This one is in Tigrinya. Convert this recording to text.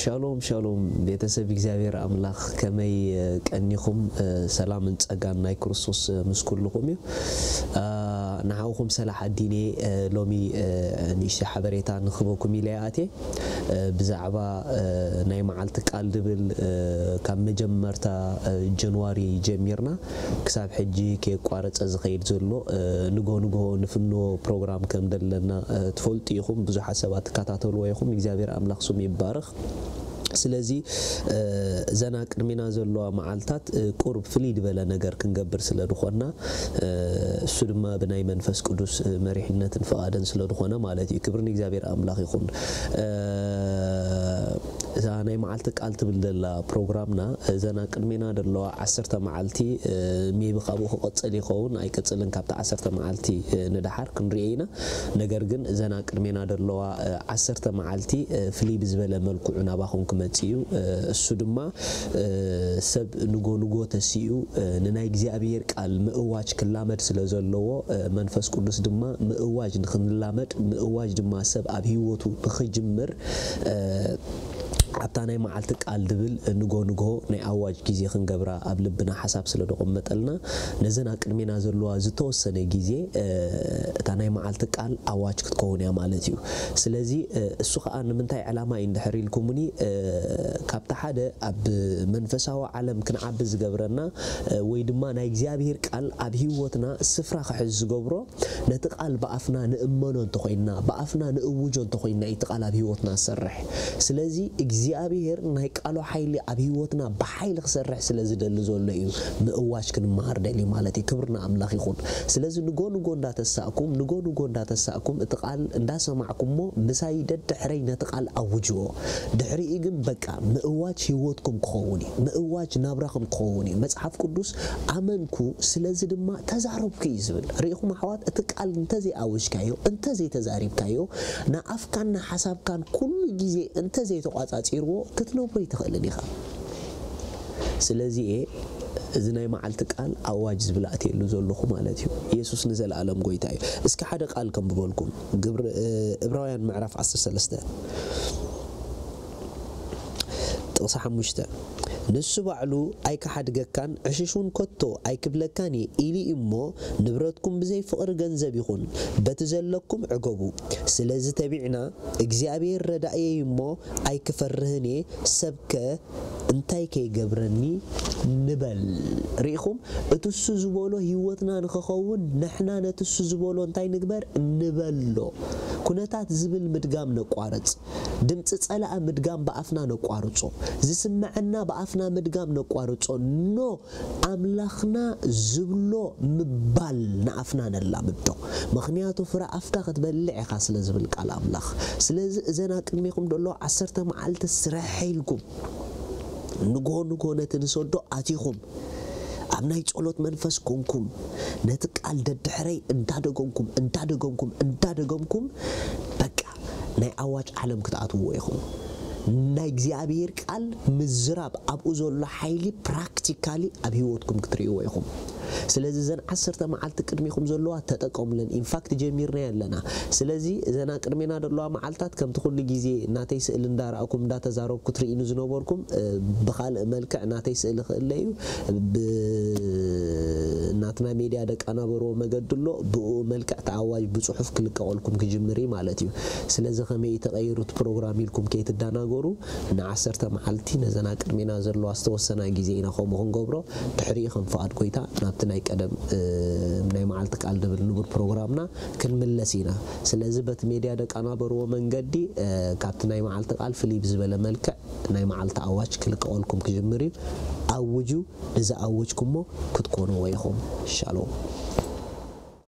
ሻሎም ሻሎም ቤተሰብ እግዚኣብሔር ኣምላኽ፣ ከመይ ቀኒኹም? ሰላምን ጸጋን ናይ ክርስቶስ ምስ ኩልኹም እዩ። ንዓኹም ሰላሕ ኣዲኔ ሎሚ ንእሽተይ ሓበሬታ ንኽበኩም ኢለ እየ ኣትየ። ብዛዕባ ናይ መዓልቲ ቃል ድብል ካብ መጀመርታ ጀንዋሪ ጀሚርና ክሳብ ሕጂ ከየቋረጸ ዝኸይድ ዘሎ ንጎ ንጎ ንፍኖ ፕሮግራም ከም ዘለና ትፈልጡ ኢኹም። ብዙሓት ሰባት ትከታተልዎ ኢኹም። እግዚኣብሔር ኣምላኽ ስሙ ይባረኽ። ስለዚ እዘን ኣብ ቅድሜና ዘለዋ መዓልታት ቁሩብ ፍልይ ዝበለ ነገር ክንገብር ስለ ዝኾንና፣ እሱ ድማ ብናይ መንፈስ ቅዱስ መሪሕነትን ፍቓድን ስለ ዝኾነ ማለት እዩ። ክብሪ ንእግዚኣብሔር ኣምላኽ ይኹን። እዛ ናይ መዓልቲ ቃል ትብል ዘላ ፕሮግራምና፣ እዘን ኣብ ቅድሜና ዘለዋ ዓሰርተ መዓልቲ፣ ሜቢ ካብኡ ክቕጽል ይኸውን ኣይቅጽልን፣ ካብቲ ዓሰርተ መዓልቲ ንደሓር ክንሪኦ ኢና። ነገር ግን እዘን ኣብ ቅድሜና ዘለዋ ዓሰርተ መዓልቲ ፍልይ ብዝበለ መልክዑ ናባኹም ክመጽእ እዩ። እሱ ድማ ሰብ ንጎ ንጎ ተሲኡ ንናይ እግዚኣብሔር ቃል ምእዋጅ ክላመድ ስለ ዘለዎ፣ መንፈስ ቅዱስ ድማ ምእዋጅ ንኽንላመድ፣ ምእዋጅ ድማ ሰብ ኣብ ህይወቱ ንኽጅምር፣ ኣብታ ናይ መዓልቲ ቃል ድብል ንጎ ንጎ ናይ ኣዋጅ ግዜ ክንገብራ ኣብ ልብና ሓሳብ ስለ ደቐመጠልና፣ ነዘን ኣብ ቅድሜና ዘለዋ ዝተወሰነ ግዜ እታ ናይ መዓልቲ ቃል ኣዋጅ ክትከውን እያ ማለት እዩ። ስለዚ እሱ ኸኣ ንምንታይ ዕላማ እዩ እንድሕር ኢልኩምኒ፣ ካብቲ ሓደ ኣብ መንፈሳዊ ዓለም ክንዓቢ ዝገብረና ወይ ድማ ናይ እግዚኣብሔር ቃል ኣብ ህይወትና ስፍራ ክሕዝ ዝገብሮ፣ ነቲ ቃል ብኣፍና ንእመኖ እንተኾይንና፣ ብኣፍና ንእውጆ እንተኾይንና እዩ እቲ ቃል ኣብ ህይወትና ዝሰርሕ። ስለዚ እግዚኣብሔር ናይ ቃሉ ሓይሊ ኣብ ህይወትና ብሓይሊ ክሰርሕ ስለ ዝደሊ ዘሎ እዩ ምእዋጅ ክንመሃር ደልዩ ማለት እዩ። ክብሪ ንኣምላኽ ይኹን። ስለዚ ንጎ ንጎ እንዳተሳእኩም፣ ንጎ ንጎ እንዳተሳእኩም እቲ ቃል እንዳሰማዕኩሞ ምሳይ ደድሕረይ ነቲ ቃል ኣውጅዎ። ድሕሪኡ ግን በቃ ምእዋጅ ህይወትኩም ክኸውን እዩ። ምእዋጅ ናብራኹም ክኸውን እዩ። መጽሓፍ ቅዱስ ኣመንኩ ስለዚ ድማ ተዛረብኩ እዩ ዝብል። ርኢኹም ኣሕዋት፣ እቲ ቃል እንተዘይኣወጅካዮ፣ እንተዘይተዛሪብካዮ፣ ንኣፍካን ንሓሳብካን ኩሉ ግዜ እንተዘይተቋጻጺርዎ ክትነብሮ ኣይትኽእልን ኢኻ። ስለዚ እየ እዚ ናይ መዓልቲ ቃል ኣዋጅ ዝብል ኣትየሉ ዘለኹ ማለት እዩ። ኢየሱስ ንዘለኣለም ጎይታ እዩ። እስኪ ሓደ ቃል ከንብበልኩም። ግብሪ እብራውያን ምዕራፍ ዓሰርተ ሰለስተ ጥቕሲ ሓሙሽተ፣ ንሱ ባዕሉ ኣይክሓድገካን ዕሽሽ እውን ከቶ ኣይክብለካን እየ ኢሉ እዩ እሞ፣ ንብረትኩም ብዘይ ፍቕሪ ገንዘብ ይኹን በቲ ዘለኩም ዕገቡ። ስለዚ ተቢዕና እግዚኣብሔር ረዳእየይ እሞ ኣይክፈርህን እየ፣ ሰብከ እንታይ ከይገብረኒ ንበል። ርኢኹም? እቲ እሱ ዝበሎ ህይወትና ንኽኸውን ንሕና ነቲ እሱ ዝበሎ እንታይ ንግበር? ንበሎ። ኩነታት ዝብል ምድጋም ነቋርጽ። ድምፂ ጸላኢ ምድጋም ብኣፍና ነቋርጾ። ዝስምዐና ብኣፍና ምድጋም ነቋርጾ። ኖ፣ ኣምላኽና ዝብሎ ምባል ንኣፍና ነላምዶ። ምኽንያቱ ፍረ ኣፍካ ክትበልዕ ኢኻ ስለ ዝብል ቃል ኣምላኽ። ስለዚ እዘን ኣብ ቅድሜኹም ዘሎ ዓሰርተ መዓልቲ ስርሐ ኢልኩም ንጎ ንጎ ነቲ ንሰዶ ኣቲኹም ኣብ ናይ ጸሎት መንፈስ ኮንኩም ነቲ ቃል ደድሕረይ እንዳደገምኩም እንዳደገምኩም እንዳደገምኩም በቃ ናይ ኣዋጅ ዓለም ክትኣትውዎ ኢኹም። ናይ እግዚኣብሔር ቃል ምዝራብ ኣብኡ ዘሎ ሓይሊ ፕራክቲካሊ ኣብ ህይወትኩም ክትርእይዎ ኢኹም። ስለዚ እዘን ዓሰርተ መዓልቲ ቅድሚኹም ዘለዋ ተጠቀሙለን። ኢንፋክት ጀሚርና ኣለና። ስለዚ እዘን ኣብ ቅድሜና ዘለዋ መዓልታት ከምቲ ኩሉ ግዜ ናተይ ስእሊ እንዳረኣኩም እንዳተዛረብኩ ትርእይኒ ዝነበርኩም፣ እ፣ ብኻልእ መልክዕ ናተይ ስእሊ ክእለ እዩ። ብ-፣ ናትና ሜድያ ደቃናበርዎ መገዲ ኣሎ። ብኡ መልክዕ ተኣዋጅ ብጽሑፍ ክልቀቐልኩም ክጅምር እዩ ማለት እዩ። ስለዚ ከመይ እዩ ተቐይሩ እቲ ፕሮግራም ኢልኩም ከይትደናገሩ፣ ንዓሰርተ መዓልቲ ነዘን ኣብ ቅድሜና ዘለዋ ዝተወሰና ግዜ ኢና ከምኡ ክንገብሮ። ድሕሪኡ ከም ፍቓድ ጎይታ ናብቲ ናይ ቀደም፣ እ፣ ናይ መዓልቲ ቃል ድብል ንቡር ፕሮግራምና ክንምለስ ኢና። ስለዚ በቲ ሜድያ ደቃናበርዎ መንገዲ፣ እ፣ ካብቲ ናይ መዓልቲ ቃል ፍልይ ብዝበለ መልክዕ ናይ መዓልቲ ኣዋጅ ክልቀቐልኩም ክጅምር እዩ። ኣውጁ፣ ንዝኣወጅኩሞ ክትኮንዎ ኢኹም። ሻሎም።